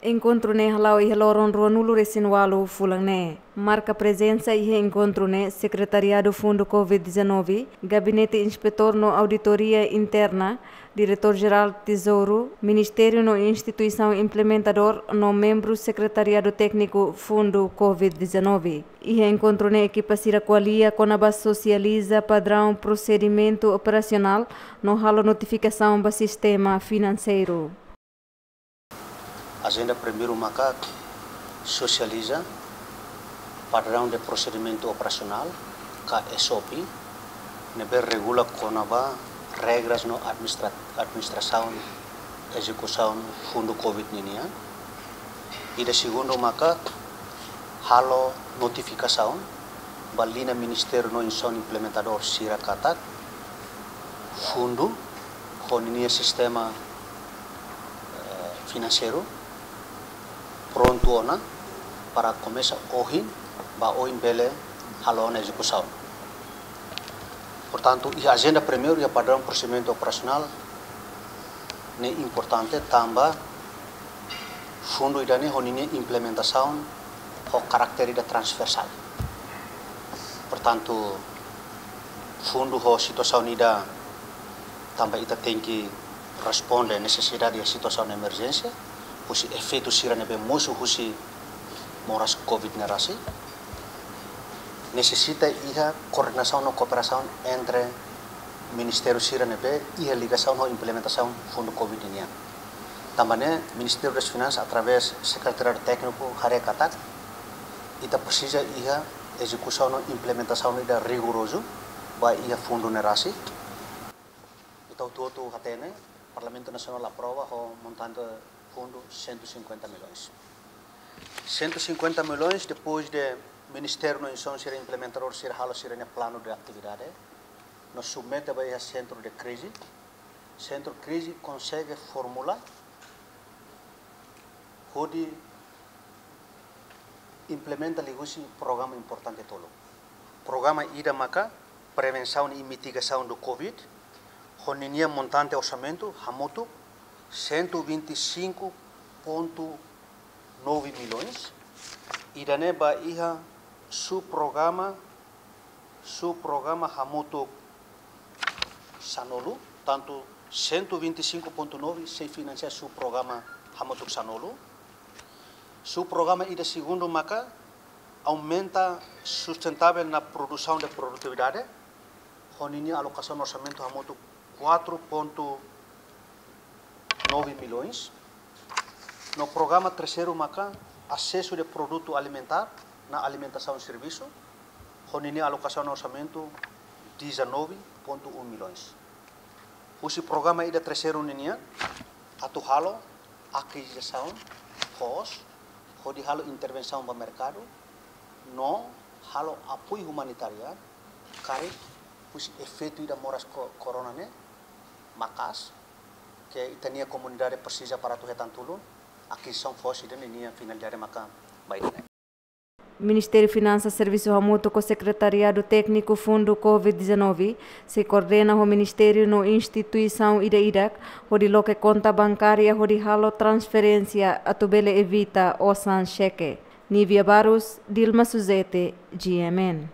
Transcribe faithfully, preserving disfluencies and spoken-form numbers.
Enkontru ne'e hala'o iha loron ruanulu resin walu fulan ne'e. Marka prezensa iha enkontru ne'e Sekretariadu Fundu covid dezanove, Gabinete Inspetór no Auditoria Interna, Diretór Jerál Tezouru, Ministériu no instituisaun implementadór no membru Sekretariadu Tékniku Fundu covid dezanove. Iha enkontru ne'e ekipa sira ko'alia kona-ba sosializa padraun prosedimentu operasionál no halo notifikasaun ba sistema finanseiru. Ajenda primeiru maka sosializa padraun de prosedimentu operasionál, ka S O P, ne'ebé regula kona-ba regras no administra-, administrasaun ezekusaun fundu covid ninian. Ida segundu maka halo notifikasaun ba liña ministériu no instituisaun implementadór sira katak fundu ho ninia sistema, eh, finanseiru prontu ona para komesa ohin, ba ohin bele halo ona ezekusaun. Portantu, iha ajenda primeiru iha padraun prosedimentu operasionál ne'e importante tanba fundu ida-ne'e ho ninia implementasaun ho karakter ida transversál. Portantu, fundu ho situasaun ida tanba ita tenke responde nesesidade iha situasaun emerjénsia, husi efeitu sira ne'ebé mosu husi moras covid ne'e rasik, nesesita iha koordenasaun no kooperasaun entre ministériu sira ne'ebé iha ligasaun ho implementasaun fundu covid nian. Tanba ne'e, Ministériu das Finansas, através Sekretariadu Tékniku, haree katak ita presiza iha ezekusaun no implementasaun ida rigorozu ba iha fundu ne'e rasik. Ita hotu-hotu hatene, Parlamentu Nasionál aprova ho montante fundu cento e cinquenta milhões. Cento e cinquenta milhões, depois de ministériu no instituisaun sira implementadór sira halo sira-nia planu de atividade, no submete ba iha sentru de krize. Sentru krize konsege formula hodi implementa liuhusi programa importante tolu. Programa ida maka prevensaun i mitigasaun do covid, ho ninia montante orsamentu hamutuk cento e vinte e cinco ponto nove milhões. Ida-ne'e ba iha subprograma, subprograma hamutuk sanulu, tantu cento e vinte e cinco ponto nove sei finansia subprograma hamutuk sanulu. Subprograma ida segundu maka aumenta sustentavel na produsaun de produtividade, ho ninia alokasaun orsamentu hamutuk quatro ponto nove milhões. No programa terseiru maka asesu de produtu alimentár na alimentasaun servisu, ho ninia alokasaun orsamentu dezanove ponto um milhões. Husi programa ida terseiru ninian, atu halo akizisaun foos, hodi halo intervensaun ba merkadu, no halo apoiu umanitarian, karik husi efeitu ida moras ko-, korona ne'e maka'as, ke ita-nia komunidade presiza para atu hetan tulun, akizisaun foos ida-ne'e nia finalidade maka ba ida-ne'e. Ministériu Finansas servisu hamutuk ho Sekretariadu Tékniku Fundu covid dezanove, sei koordena ho ministériu no instituisaun ida-idak, hodi loke konta bankária hodi halo transferénsia atu bele evita osan xeke. Nívia Barros, Dilma Suzete, G M N.